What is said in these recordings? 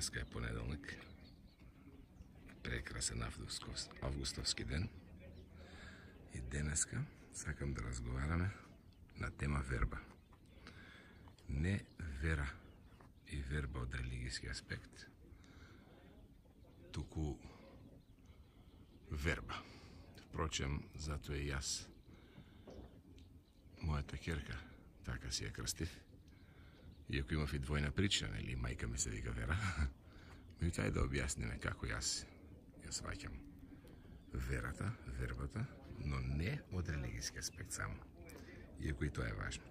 Денеска е понеделник, прекрасен августовски ден и денеска сакам да разговараме на тема верба. Не вера и верба од религијски аспект, туку верба. Впрочем, затоа и јас, мојата ќерка, така си ја крстив, иако имав и двојна причина, или мајка ми се вика Вера, меѓутоа да објасниме како јас ја сваќам верата, вербата, но не од религијски аспект само, иако и тоа е важно.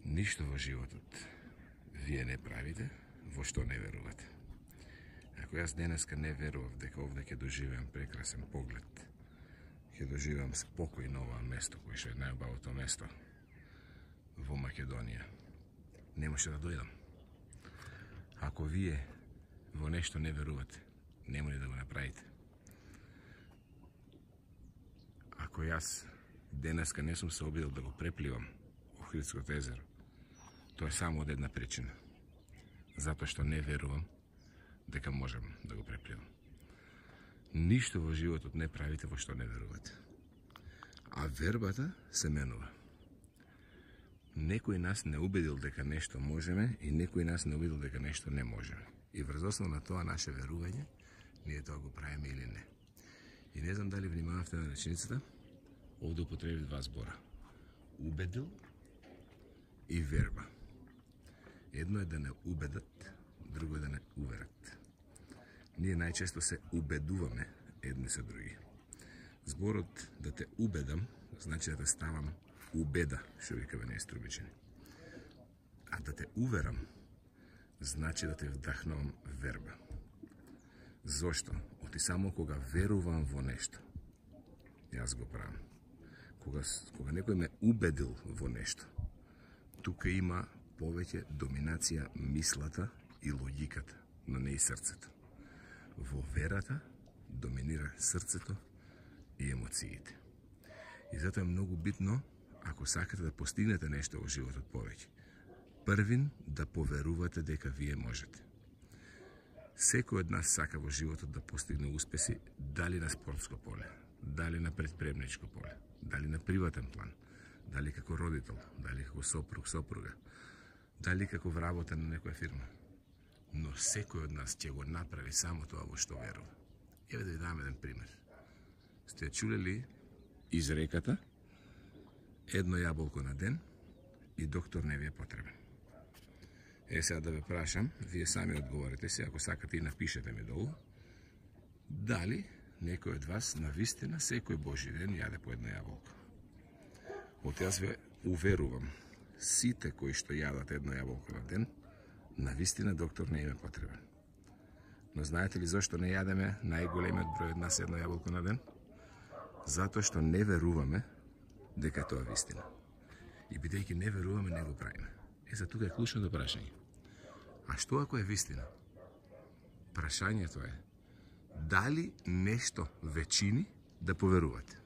Ништо во животот вие не правите во што не верувате. Ако јас денеска не верував дека овде ќе доживеам прекрасен поглед, ќе доживеам спокој на ова место, кој што е најубавото место во Македонија, немаше да дојдам. Ако вие во нешто не верувате, нема ли да го направите. Ако јас денеска не сум се обидел да го препливам Охридското езеро, тоа е само од една причина. Затоа што не верувам дека можам да го препливам. Ништо во животот не правите во што не верувате. А вербата се менува. Некој нас не убедил дека нешто можеме и некој нас не убедил дека нешто не можеме. И врз основа на тоа наше верување, ние тоа го правиме или не. И не знам дали внимававте на реченицата, овде употребив два збора. Убедил и верба. Едно е да не убедат, друго е да не уверат. Ние најчесто се убедуваме едни со други. Зборот да те убедам, значи да те ставам убеда, што викаме ние струмичени. А да те уверам, значи да те вдахнувам верба. Зошто? Оти само кога верувам во нешто, јас го правам. Кога некој ме убедил во нешто, тука има повеќе доминација мислата и логиката, но не и срцето. Во верата доминира срцето и емоциите. И затоа е многу битно, ако сакате да постигнете нешто во животот повеќе, првин да поверувате дека вие можете. Секој од нас сака во животот да постигне успеси, дали на спортско поле, дали на предприемничко поле, дали на приватен план, дали како родител, дали како сопруг, сопруга, дали како вработен на некоја фирма. Но секој од нас ќе го направи само тоа во што верува. Еве да ви дам еден пример. Сте чуле ли изреката едно јаболко на ден и доктор не ви е потребен? Сега да ве прашам, вие сами одговорите се, ако сакате и напишете ми долу, дали некој од вас навистина секој Божи ден јаде по едно јаболко? От јас ве уверувам, сите кои што јадат едно јаболко на ден, навистина доктор не им е потребен. Но знаете ли зашто не јадеме најголемиот број од нас едно јаболко на ден? Затоа што не веруваме дека тоа е вистина. И бидејќи не веруваме, не го правиме. За тука е клучното прашање. А што ако е вистина? Прашањето е, дали нешто ве чини да поверувате?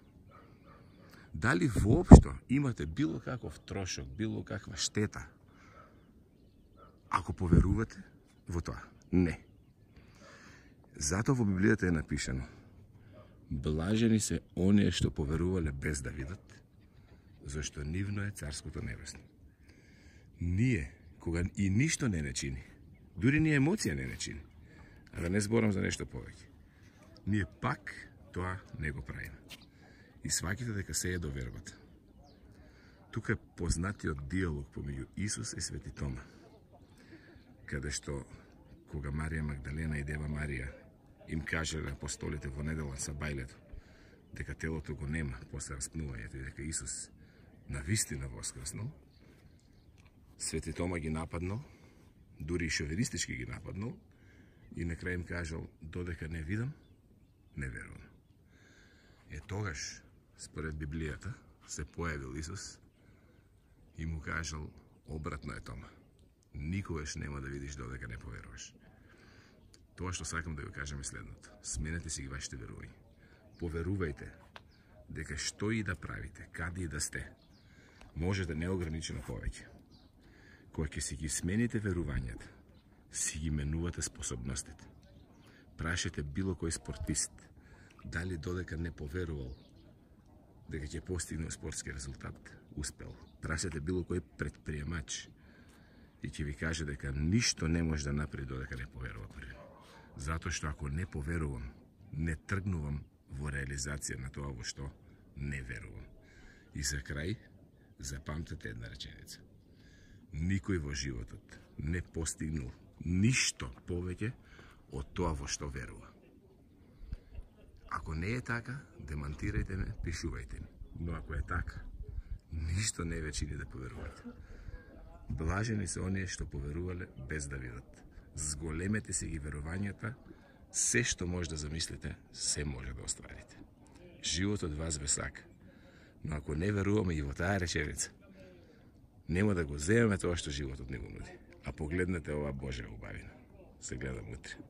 Дали воопшто имате било каков трошок, било каква штета, ако поверувате во тоа? Не. Затоа во Библијата е напишано: блажени се оние што поверувале без да видат, зашто нивно е Царското небесно. Ние, кога и ништо не чини, дури ни емоција не чини, а да не зборам за нешто повеќе, ние пак тоа не го правиме. И сваќате дека се е до вербата. Тука е познатиот диалог помеѓу Исус и Свети Тома, каде што кога Марија Магдалена и Дева Марија им кажале апостолите во недела са бајлето дека телото го нема после распнувањето и дека Исус навистина воскреснал, Свети Тома ги нападнал, дури и шовинистички ги нападнал, и на крај им кажал: додека не видам, не верувам. Тогаш, според Библијата, се појавил Исус и му кажал: обратно е, Тома, никогаш нема да видиш додека не поверуваш. Тоа што сакам да го кажам е следното: сменете си ги вашите верувања. Поверувајте дека што и да правите, каде и да сте, можете неограничено повеќе. Кога ќе си ги смените верувањата, си ги менувате способностите. Прашете било кој спортист дали додека не поверувал дека ќе постигне спортски резултат, успел. Прашете било кој предприемач и ќе ви каже дека ништо не може да направи додека не поверува први. Затоа што ако не поверувам, не тргнувам во реализација на тоа во што не верувам. И за крај, запамтете една реченица. Никој во животот не постигнал ништо повеќе од тоа во што верува. Ако не е така, демантирајте ме, пишувајте ми. Но ако е така, ништо не ве чини да поверувате. Блажени се оние што поверувале без да видат. Зголемете се ги верувањата, се што може да замислите, се може да остварите. Животот вас ве сака. Но ако не веруваме и во таа реченица, нема да го земеме тоа што животот не го нуди. А погледнете оваа Божја убавина. Се гледам утре.